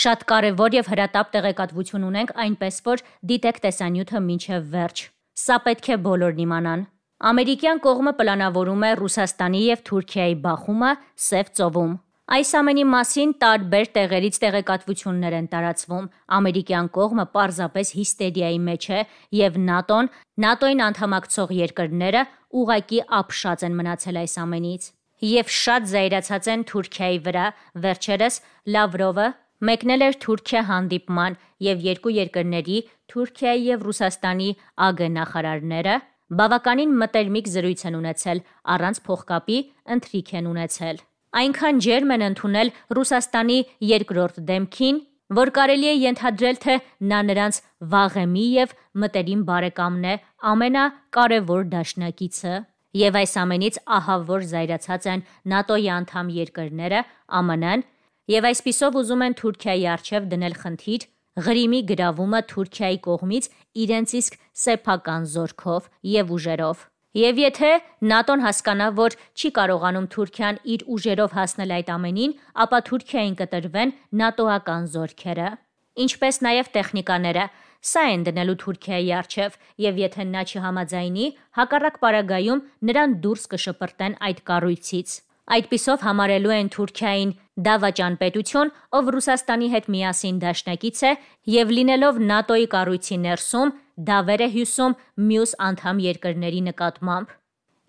շատ կարևոր եւ հրատապ տեղեկատվություն ունենք, այնպես որ դիտեք տեսանյութը մինչև վերջ։ Սա պետք է բոլորն իմանան։ Ամերիկյան կողմը պլանավորում է Ռուսաստանի եւ Թուրքիայի բախումը Սև ծովում։ Այս ամենի մասին տարբեր տեղերից տեղեկատվություններ են տարածվում։ Ամերիկյան կողմը պարզապես հիստերիայի մեջ է եւ ՆԱՏՕ-ին անդամակցող երկրները ուղղակի ապշած են մնացել այս ամենից եւ շատ զայրացած են Թուրքիայի վրա։ Վերջերս Լավրովը մեկնել էր Թուրքիա հանդիպման եւ երկու երկրների Թուրքիայի եւ Ռուսաստանի ԱԳ նախարարները բավականին մտերմիկ զրույց են ունեցել, առանց փողկապի ընթրիք են ունեցել։ Այնքան ջերմ են ընդունել Ռուսաստանի երկրորդ դեմքին, որ կարելի է ենթադրել, թե նա նրանց վաղեմի եւ մտերիմ բարեկամն է, ամենակարևոր դաշնակիցը։ Եվ այս ամենից ահա որ զայրացած են ՆԱՏՕ-ի անդամ երկրները, ԱՄՆ-ն, եւ այսպիսով ուզում են Թուրքիայի առջև դնել խնդիր Ղրիմի գրավումը Թուրքիայի կողմից իրենց իսկ սեփական զորքով եւ ուժերով։ Եվ եթե ՆԱՏՕ-ն հասկանա, որ չի կարողանում Թուրքիան իր ուժերով հասնել այդ ամենին, ապա Թուրքիային կտրվեն ՆԱՏՕ-ական զորքերը, ինչպես նաև տեխնիկաները։ Սա են դնելու Թուրքիայի առջև, եւ եթե նա չհամաձայնի, հակառակ պարագայում նրան դուրս կշպրտեն այդ կառույցից։ Այդպիսով համարելու են Թուրքիային դավաճան պետություն, ով Ռուսաստանի հետ միասին դաշնակից է եւ լինելով ՆԱՏՕ-ի կառույցի ներսում դավեր է հյուսում մյուս անդամ երկրների նկատմամբ։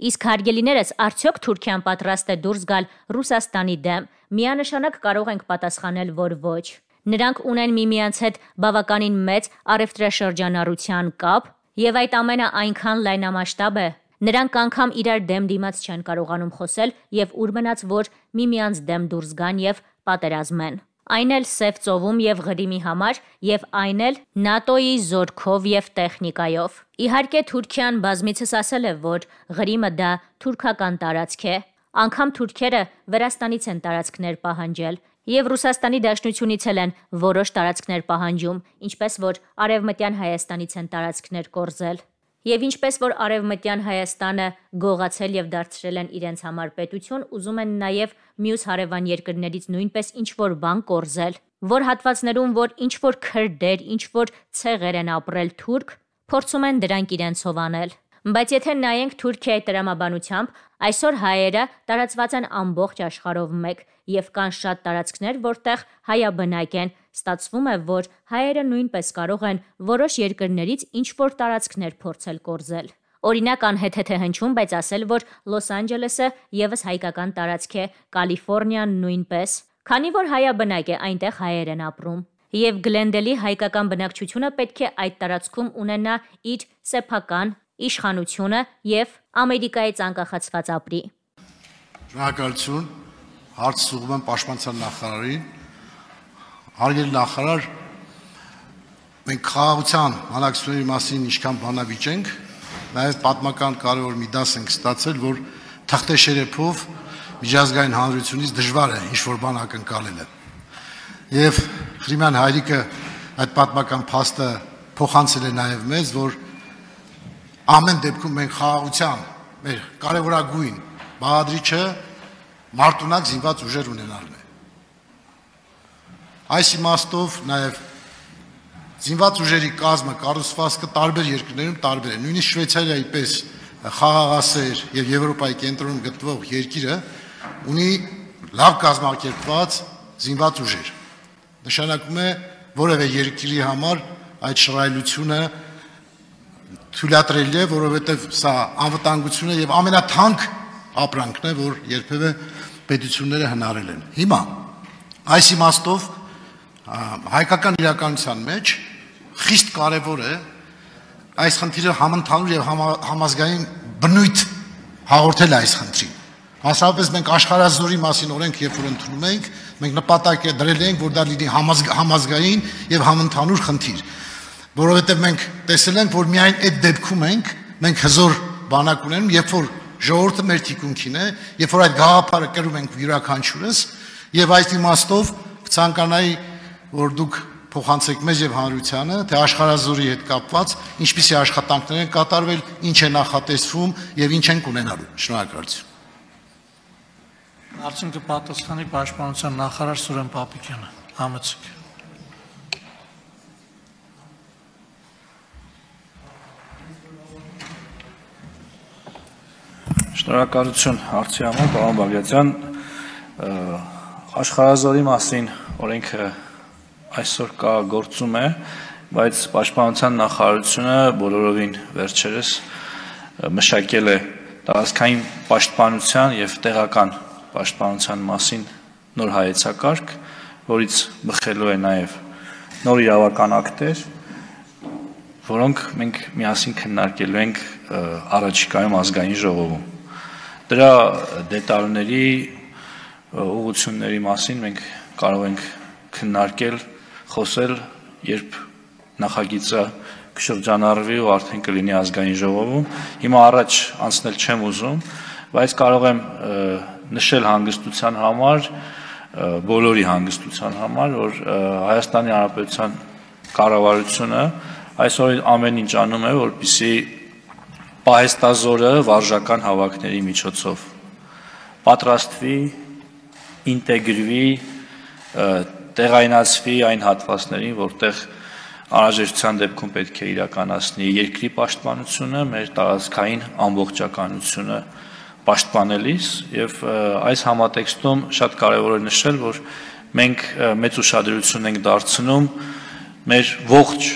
Իսկ հարգելիներս, արդյոք Թուրքիան պատրաստ է դուրս գալ Ռուսաստանի դեմ։ Միանշանակ կարող ենք պատասխանել, որ ոչ։ Նրանք ունեն միմյանց հետ բավականին մեծ առևտրաշրջանառության կապ եւ այդ ամենը այնքան լայնամասշտաբ է։ Նրանք անգամ իրար դեմ դիմաց չեն կարողանում խոսել եւ ուր մնաց, որ միմյանց դեմ դուրս գան եւ պատերազմեն։ Այն էլ Սև ծովում եւ Ղրիմի համար եւ այն էլ ՆԱՏՕ-ի զորքով եւ տեխնիկայով։ Իհարկե Թուրքիան բազմիցս ասել է, որ Ղրիմը դա թուրքական տարածք է։ Անգամ թուրքերը Վրաստանից են տարածքներ պահանջել եւ Ռուսաստանի Դաշնությունից են որոշ տարածքներ պահանջում, ինչպես որ Արևմտյան Հայաստանից են տարածքներ կորզել։ Եվ ինչպես որ Արևմտյան Հայաստանը գողացել եւ դարձրել են իրենց համար պետություն, ուզում են նաեւ մյուս հարևան երկրներից նույնպես ինչ-որ բան կորզել, որ հատվածներում, որ ինչ-որ քրդեր, ինչ-որ ցեղեր են ապրել թուրք, փորձում են դրանք իրենցով անել։ Բայց եթե նայենք Թուրքիայի տրամաբանությամբ, այսօր հայերը տարածված են ամբողջ աշխարհով մեկ եւ կան շատ տարածքներ, որտեղ հայաբնակ են։ Ստացվում է, որ հայերը նույնպես կարող են որոշ երկրներից ինչ-որ տարածքներ փորձել կորզել։ Օրինակ անհեթեթ է հնչում, բայց ասել, որ Լոս Անջելեսը եւս հայկական տարածք է, Կալիֆոռնիան նույնպես, քանի որ հայաբնակ է, այնտեղ հայեր են ապրում։ Եվ Գլենդելի հայկական բնակչությունը պետք է այդ տարածքում ունենա իր սեփական իշխանությունը եւ Ամերիկայից անկախացված ապրի։ Շնորհակալություն, հարց ուղղում եմ Պաշտպանության նախարարին։ Հարգելի նախարար, մենք խաղաղության հանրակցությունների մասին ինչքան բանավիճ ենք, նաև պատմական կարևոր մի դաս ենք ստացել, որ թղթե շերեփով միջազգային հանրությունից դժվար է ինչ-որ բան ակնկալելը։ Եվ Ղրիմյան հայրիկը այդ պատմական փաստը փոխանցել է նաև մեզ, որ ամեն դեպքում մենք խաղաղության մեր կարևորագույն բաղադրիչը մարտունակ զինված ուժեր ունենալն է։ Այս իմաստով նաև զինված ուժերի կազմը կառուցվածքը տարբեր երկրներում տարբեր է։ Նույնիսկ Շվեյցարիայի պես խաղաղասեր եւ Եվրոպայի կենտրոնում գտնվող երկիրը ունի լավ կազմակերպված զինված ուժեր։ Նշանակում է որևէ երկրի համար այդ շռայլությունը թույլատրելի է, որովհետև սա անվտանգությունը եւ ամենաթանկ ապրանքն է, որ երբևէ պետությունները հնարել են։ Հիմա այս իմաստով հայկական իրականության մեջ խիստ կարևոր է այս խնդիրը համընդհանուր եւ համազգային բնույթ հաղորդել այս խնդրին։ Մասնավորապես մենք աշխարհազորի մասին օրենք երբ որ ընդունում ենք, մենք նպատակ է դրել ենք, որ դա լինի համազգային եւ համընդհանուր խնդիր, որովհետեւ մենք տեսել ենք, որ միայն այդ դեպքում մենք հզոր բանակ ունենք, երբ որ ժողովուրդը մեր թիկունքին է, երբ որ այդ գաղափարը կրում ենք յուրաքանչյուրս, եւ այս իմաստով կցանկանայի, որ դուք փոխանցեք մեզ եւ հանրությանը, թե աշխարհազորի հետ կապված ինչպիսի աշխատանքներ են կատարվել, ինչ է նախատեսվում եւ ինչ են կունենալու։ Շնորհակալություն։ Արդյունքը պատասխանի Պաշտպանության նախարար Սուրեն Պապիկյանը։ Համեցեք։ Շնորհակալություն հարցի համար, պարոն Բագրատյան, աշխարհազորի մասին օրենքը այսօր կա գործում է, բայց Պաշտպանության նախարարությունը բոլորովին վերջերս մշակել է տարածքային պաշտպանության եւ տեղական պաշտպանության մասին նոր հայեցակարգ, որից բխելու է նաեւ նոր իրավական ակտեր, որոնք մենք միասին քննարկելու ենք առաջիկայում ազգային ժողովում։ Դրա դետալների ուղղությունների մասին մենք կարող ենք քննարկել, խոսել, երբ նախագիծը կշրջանառվի ու արդեն կլինի ազգային ժողովում։ Հիմա առաջ անցնել չեմ ուզում, բայց կարող եմ նշել հանգստության համար, բոլորի հանգստության համար, որ Հայաստանի Հանրապետության կառավարությունը այսօր ամեն ինչ անում է, որպեսզի պահեստազորը վարժական հավաքների միջոցով պատրաստվի, ինտեգրվի, տեղայնացվի այն հատվածներին, որտեղ անհրաժեշտության դեպքում պետք է իրականացնի երկրի պաշտպանությունը, մեր տարածքային ամբողջականությունը պաշտպանելիս, եւ այս համատեքստում շատ կարեւոր է նշել, որ մենք մեծ ուշադրություն ենք դարձնում մեր ողջ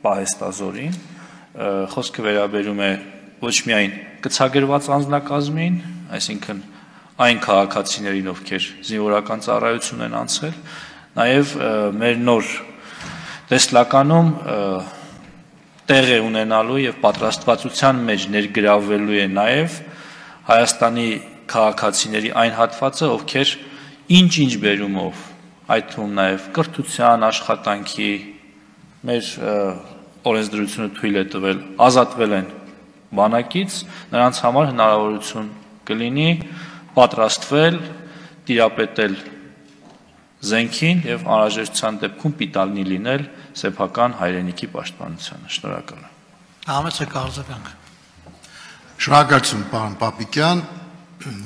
պահեստազորին, խոսքը վերաբերում է ոչ միայն կցագրված անձնակազմին, այսինքն այն քաղաքացիներին, ովքեր զինվորական ծառայություն են անցել, նաև մեր նոր տեսլականում տեղ է ունենալու եւ պատրաստվածության մեջ ներգրավվելու է նաև Հայաստանի քաղաքացիների այն հատվածը, ովքեր ինչ-ինչ բերումով, այդ թվում նաև կրթության, աշխատանքի, մեր օրենսդրությունը թույլ է տվել, ազատվել են բանակից, նրանց համար հնարավորություն կլինի պատրաստվել, տիրապետել զենքին եւ անհրաժեշտության դեպքում պիտանի լինել սեփական հայրենիքի պաշտպանությանը։ Շնորհակալ եմ։ Համեցեք արձագանք։ Շնորհակալություն, պարոն Պապիկյան,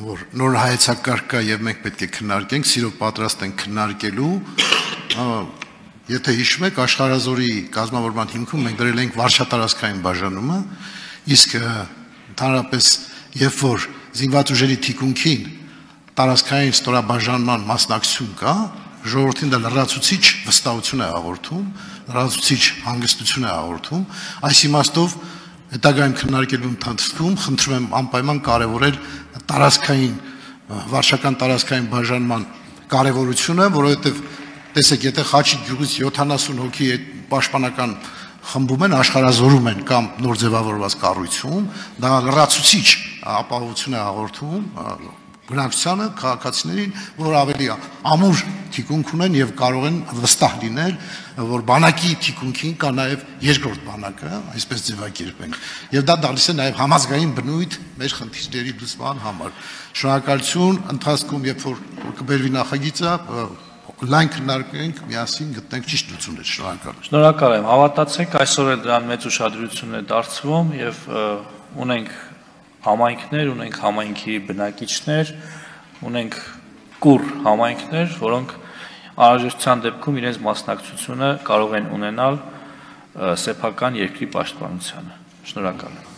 որ նոր հայեցակարգ կա եւ մենք պետք է քննարկենք, սիրով պատրաստ ենք քննարկելու։ Եթե հիշում եք, աշխարհազորի կազմավորման հիմքում մենք դրել ենք վարչատարածքային բաժանումը, իսկ ընդհանրապես երբ որ զինված ուժերի թիկունքին տարածքային ստորաբաժանման մասնակցություն կա, ժողովրդին դա լրացուցիչ վստահություն է հաղորդում, լրացուցիչ հանգստություն է հաղորդում, այս իմաստով հետագայում քննարկելու ընթացքում խնդրում եմ անպայման կարևորել տարածքային վարչական տարածքային բաժանման կարևորությունը, որովհետև տեսեք, եթե Խաչիկ գյուղից 70 հոգի պաշտպանական խմբում են, աշխարհազորում են կամ նոր ձևավորված կառույցում, դա լրացուցիչ ապահովություն է հաղորդում բնակչությանը, քաղաքացիներին, որ ավելի ամուր թիկունք ունեն եւ կարող են վստահ լինել, որ բանակի թիկունքին կա նաեւ երկրորդ բանակը, այսպես ձևակերպենք։ Եվ դա տալիս է նաեւ համազգային բնույթ մեր խնդիրների լուծման համար։ Շնորհակալություն, ընթացքում երբ որ կբերվի նախագիծը, լայն քննարկենք, միասին գտնենք ճիշտ լուծումներ։ Շնորհակալ եմ։ Շնորհակալ եմ։ Հավատացեք, այսօր էլ դրան մեծ ուշադրություն է դարձվում եւ ունենք համայնքներ, ունենք համայնքի բնակիչներ, ունենք կուռ համայնքներ, որոնք անհրաժեշտության դեպքում իրենց մասնակցությունը կարող են ունենալ սեփական երկրի պաշտպանությանը։ Շնորհակալ եմ։